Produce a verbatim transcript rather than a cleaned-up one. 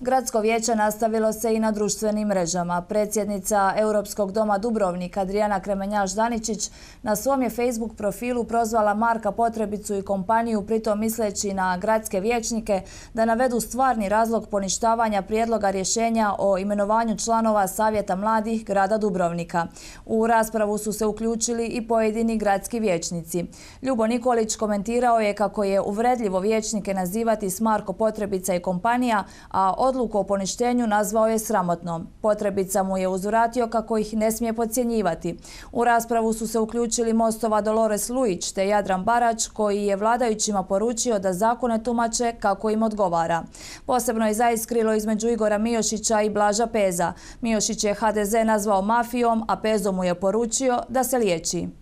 Gradsko vijeće nastavilo se i na društvenim mrežama. Predsjednica Europskog doma Dubrovnik Adriana Kremenjaš-Daničić na svom je Facebook profilu prozvala Marka Potrebicu i kompaniju, pritom misleći na gradske vijećnike da navedu stvarni razlog poništavanja prijedloga rješenja o imenovanju članova Savjeta mladih grada Dubrovnika. U raspravu su se uključili i pojedini gradski vijećnici. Ljubo Nikolić komentirao je kako je uvredljivo vijećnike nazivati s Marko Potrebica i kompanija, a odluku o poništenju nazvao je sramotnom. Potrebica mu je uzvratio kako ih ne smije podcjenjivati. U raspravu su se uključili Mostova Dolores Lujić te Jadran Barać, koji je vladajućima poručio da zakone tumače kako im odgovara. Posebno je zaiskrilo između Igora Mijošića i Blaža Peza. Mijošić je ha de ze nazvao mafijom, a Pezo mu je poručio da se liječi.